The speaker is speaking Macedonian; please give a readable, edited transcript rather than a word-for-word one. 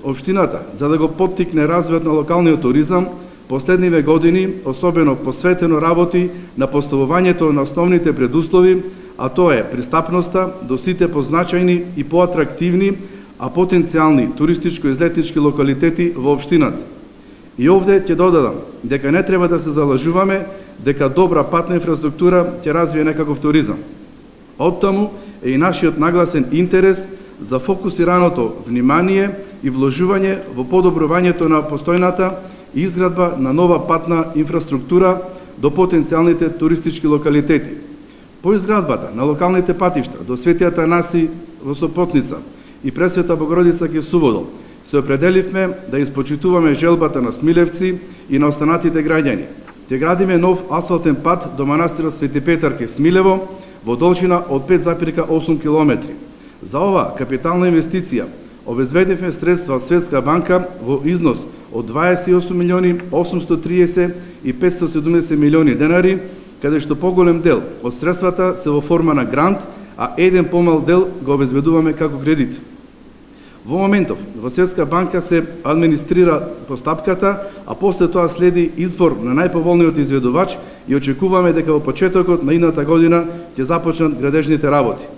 Општината, за да го поттикне развојот на локалниот туризам, последниве години особено посветено работи на поставувањето на основните предуслови, а тоа е пристапноста до сите позначајни и поатрактивни, а потенцијални туристичко-излетнички локалитети во општината. И овде ќе додадам дека не треба да се залажуваме дека добра патна инфраструктура ќе развие некаков туризам. Оттаму е и нашиот нагласен интерес за фокусираното внимание и вложување во подобрувањето на постојната и изградба на нова патна инфраструктура до потенцијалните туристички локалитети. По изградбата на локалните патишта до Свети Атанаси во Сопотница и Пресвета Богородица ке Суводол се определивме да испочитуваме желбата на Смилевци и на останатите граѓани. Ќе градиме нов асфалтен пат до манастирот Свети Петар ке Смилево во должина од 5,8 км. За ова капитална инвестиција обезбедивме средства од Светска банка во износ од 28.830.570 милиони денари, каде што поголем дел од средствата се во форма на грант, а еден помал дел го обезбедуваме како кредит. Во моментов, во Светска банка се администрира постапката, а после тоа следи избор на најповолниот изведувач и очекуваме дека во почетокот на идната година ќе започнат градежните работи.